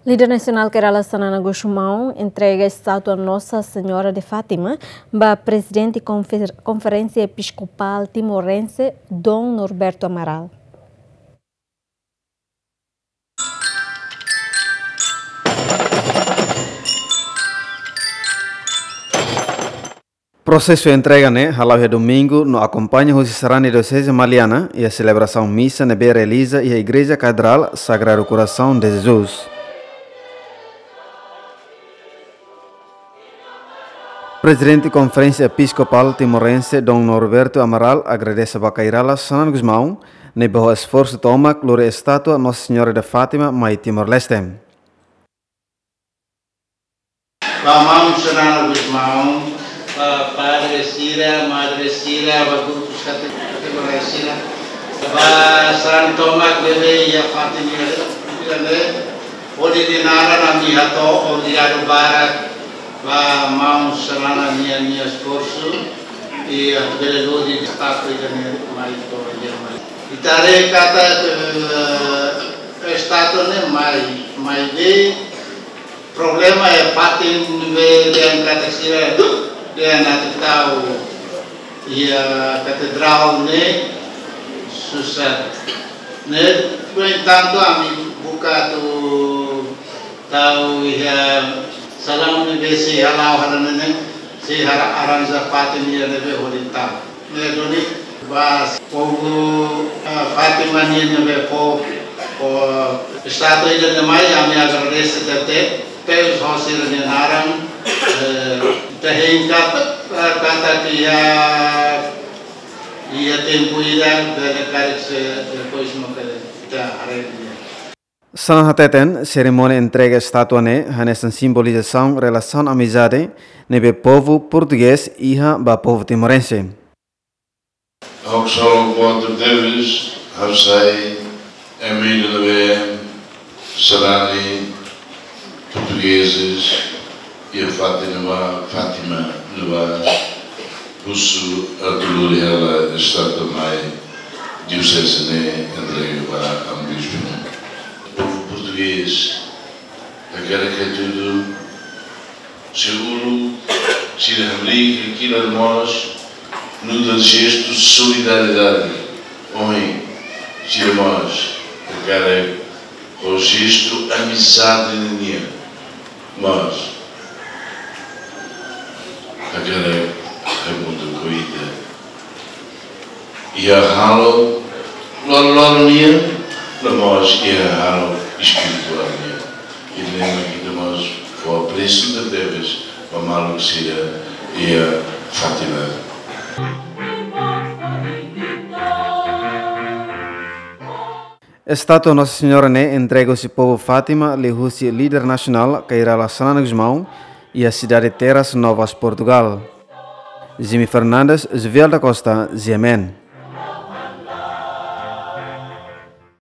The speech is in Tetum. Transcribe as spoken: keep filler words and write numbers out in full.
Líder nasionál Kay Rala Xanana Gusmão entrega estátua Nossa Senhora de Fátima ba Prezidente Konfer-, Konferénsia Episkopál Timorense, Dom Norberto Amaral. Prosesu entrega ne'e hala'o iha domingu no akompaña husi sarani Dioseze Maliana iha selebrasaun misa ne'ebé realiza iha Igreja Katedrál Sagrado Coração de Jesus. Prezidente Konferénsia Episkopál Timorense, Dom Norberto Amaral, agradese ba Kay Rala Xanana Gusmão, ne'ebé ho esforsu tomak lori estátua Nossa Senhora de Fátima mai Timor-Leste. Ba maun Xanana Gusmão, ba padre sira, madre sira, ba grupus kate-, kategoria sira, ba sarani tomak ne'ebé iha fatin ne'e, hodi dehan naran ami hato'o obrigadu barak ba maun Xanana nia, nia esforsu, i atu bele lori estátua ida-ne'e mai to'o iha mai. Ita haree katak, eh, estátua ne'e mai, maibé problema iha fatin ne'ebé dehan katak sira dehan atu tau iha katedrál ne'e susar. Ne'e, no entantu, ami buka atu tau iha salaun ne'ebé sei hala'o hela ne'e, sei hara arranja fatin ida ne'ebé hodi tau. Ne'e duni ba povu, eh, Fátima nian ne'ebé fó, fó estátua ida-ne'e mai, ami agradese tebes, tebes ho sira-nia naran, eh, ita hein katak, eh, katak iha, iha tempu ida, bele karik se, depois no kere, ita haree. Xanana hateten, serimónia entrega estátua ne'e hanesan simbolizasaun relasaun amizade ne'ebé povu portugés iha ba povu timorense. Ha'u ksolok boot tebes, ha'u sai ema ida ne'ebé sarani portugezes iha fatin ne'ebá, Fátima ne'ebá, husu atu lori hela estátua mai dioseze ne'e entrega ba amu bispu. Povu portugés, hakarak atu tudu, seguru, sira hamriik hakilar mós, nu'udar jestu solidariedade. Ohin, sira mós, hakarak ho jestu amizade nian mós hakarak hamutuk ho ita iha halo loroloron nian, no mós iha halo espirituál nian. Ida-ne'e mak ita mós fó apresia tebes ba maluk sira iha Fátima. Estátua Nossa Senhora ne'e entrega husi povu Fátima liuhusi líder nasionál Kay Rala Xanana Gusmão iha sidade Terras Novas, Portugal. Jimmy Fernandes, Jovial da Costa, G M N.